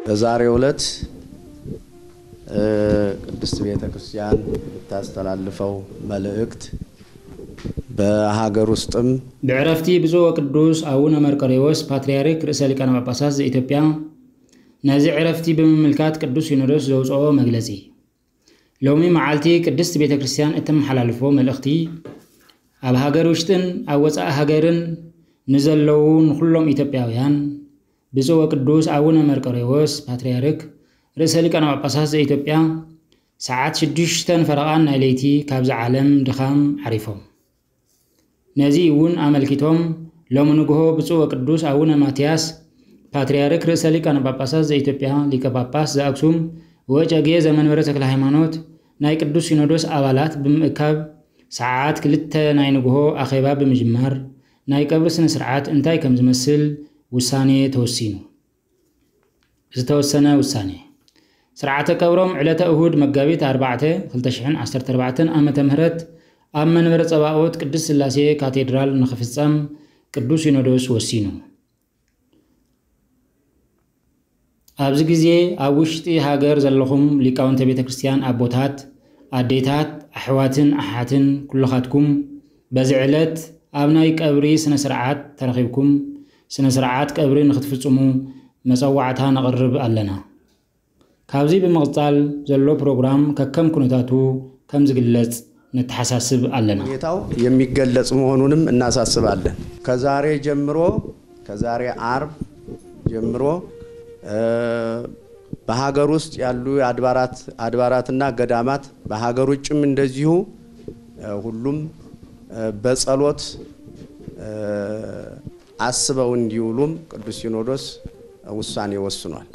በዛሬው ዕለት ቅድስት ቤተ ክርስቲያን የምታስተላልፈው መልእክት በሀገር ውስጥም ብዕረፍቲ ብፁዕ ወቅዱስ አቡነ መርቆሬዎስ ፓትርያርክ ርእሰ ሊቃነ ጳጳሳት ዘኢትዮጵያ ነዚ ዕረፍቲ ብምምልካት ቅዱስ ሲኖዶስ ዘውፅኦ መግለጺ። ሎሚ መዓልቲ ቅድስት ቤተ ክርስቲያን እተመሓላልፎ መልእኽቲ ኣብ ሃገር ውሽጥን ኣብ ወፃኢ ሃገርን ንዘለዉ ንኹሎም ኢትዮጵያውያን ብፁዕ ወቅዱስ አቡነ መርቆሬዎስ ፓትርያርክ ርእሰ ሊቃነ ጳጳሳት ዘኢትዮጵያ ሰዓት ሽዱሽተን ፈረቓን ናይ ለይቲ ካብዚ ዓለም ድኻም ዓሪፎም። ነዚ እውን ኣመልኪቶም ሎሚ ንግሆ ብፁዕ ወቅዱስ አቡነ ማትያስ ፓትርያርክ ርእሰ ሊቃነ ጳጳሳት ዘኢትዮጵያ ሊቀ ጳጳስ ዘአክሱም ወጨጌ ዘመንበረ ተክለ ሃይማኖት ናይ ቅዱስ ሲኖዶስ ኣባላት ብምእካብ ሰዓት ክልተ ናይ ንግሆ ኣኼባ ብምጅማር ናይ ቀብሪ ስነ ስርዓት እንታይ ከም ዝመስል ውሳኔ ተወሲኑ። ዝተወሰነ ውሳኔ። ስርዓተ ቀብሮም ዕለተ እሁድ መጋቢት ኣርባዕተ ክልተ ሽሕን ዓሰርተ ኣርባዕተን ዓመተ ምህረት ኣብ መንበረ ጸባኦት ቅድስት ሥላሴ ካቴድራል ንኽፍጸም ቅዱስ ሲኖዶስ ወሲኑ። ኣብዚ ግዜ ኣብ ውሽጢ ሃገር ዘለኹም ሊቃውንተ ቤተ ክርስቲያን ኣቦታት፣ ኣዴታት፣ ኣሕዋትን ኣሓትን ኩልኻትኩም በዚ ዕለት ኣብ ናይ ቀብሪ ስነ ስርዓት ተረኺብኩም ስነ ስርዓት ቀብሪ ንኽትፍጽሙ መጸዋዕታ ነቕርብ ኣለና። ካብዚ ብምቕጻል ዘሎ ፕሮግራም ከከም ኩነታቱ ከም ዝግለጽ ነተሓሳስብ ኣለና። ሁኔታው የሚገለጽ መሆኑንም እናሳስባለን። ከዛሬ ጀምሮ ከዛሬ አርብ ጀምሮ በሀገር ውስጥ ያሉ አድባራት አድባራትና ገዳማት በሀገር ውጭም እንደዚሁ ሁሉም በጸሎት አስበው እንዲውሉም ቅዱስ ሲኖዶስ ውሳኔ ወስኗል።